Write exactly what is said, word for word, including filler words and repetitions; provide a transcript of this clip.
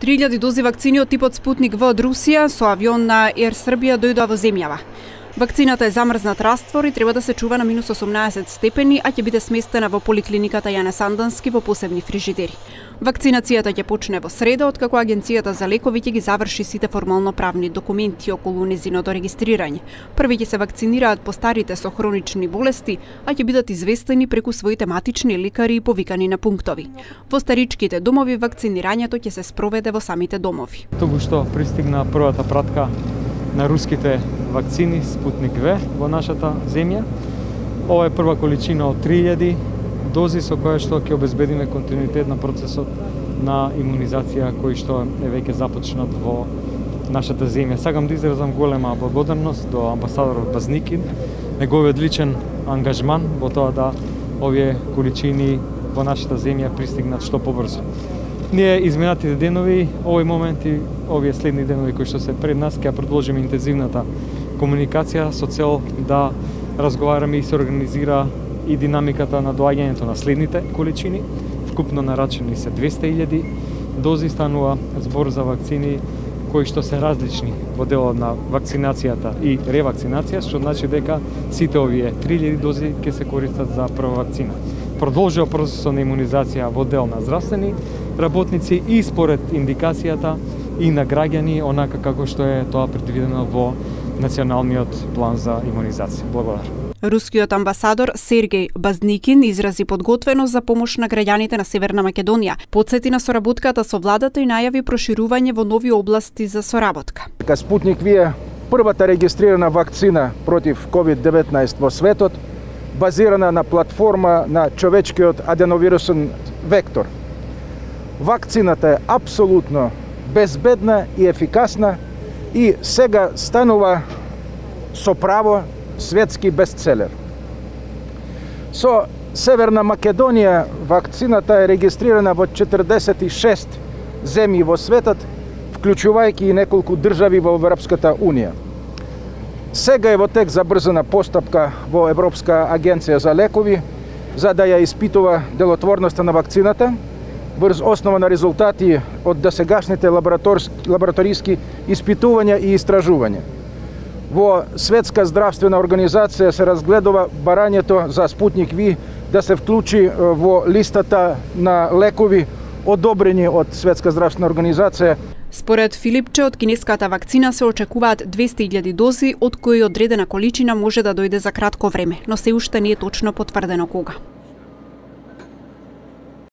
три илјади дози вакцини од типот Спутник В од Русија со авион на Ер Србија дојдоа во земјава. Вакцината е замрзнат раствор и треба да се чува на минус осумнаесет степени, а ќе биде сместена во поликлиниката Јане Сандански во посебни фрижидери. Вакцинацијата ќе почне во среда, откако Агенцијата за лекови ќе ги заврши сите формално правни документи околу незиното регистрирање. Први ќе се вакцинираат постарите со хронични болести, а ќе бидат известени преку своите матични лекари и повикани на пунктови. Во старичките домови вакцинирањето ќе се спроведе во самите домови. Тогу што пристигна првата пратка на руските вакцини Спутник В во нашата земја. Ова е прва количина од три илјади дози со која што ќе обезбедиме континуитет на процесот на имунизација кој што е веќе започнат во нашата земја. Сакам да изразам голема благодарност до амбасадорот Базникин, неговиот личен ангажман во тоа да овие количини во нашата земја пристигнат што побрзо. Ние изминатите денови, овој момент и овие следни денови кои што се пред нас, ќе продолжиме интензивната комуникација со цел да разговараме и се организира и динамиката на доаѓањето на следните количини. Вкупно нарачени се двесте илјади дози, станува збор за вакцини кои што се различни во делот на вакцинацијата и ревакцинација, што значи дека сите овие три илјади дози ќе се користат за прва вакцина. Продолжува процесот на имунизација во дел на здравствени работници и според индикацијата и на граѓани, онака како што е тоа предвидено во Националниот план за имунизација. Благодарам. Рускиот амбасадор Сергеј Базникин изрази подготвеност за помош на граѓаните на Северна Македонија, потсети на соработката со владата и најави проширување во нови области за соработка. Спутник В е првата регистрирана вакцина против ковид деветнаесет во светот, базирана на платформа на човечкиот аденовирусен вектор. Вакцината е апсолутно безбедна и ефикасна и сега станува со право светски бестселер. Со Северна Македонија вакцината е регистрирана во четрдесет и шест земји во светот, вклучувајќи и неколку држави во Европската унија. Сега е во тек забрзана постапка во Европска агенција за лекови за да ја испитува делотворноста на вакцината врз основа на резултати од досегашните лабораториски испитувања и истражувања. Во Светска здравствена организација се разгледува барањето за Спутник В да се вклучи во листата на лекови одобрени од Светска здравствена организација. Според Филипче, од кинеската вакцина се очекуваат двесте илјади дози, од кои одредена количина може да дојде за кратко време, но се уште не е точно потврдено кога.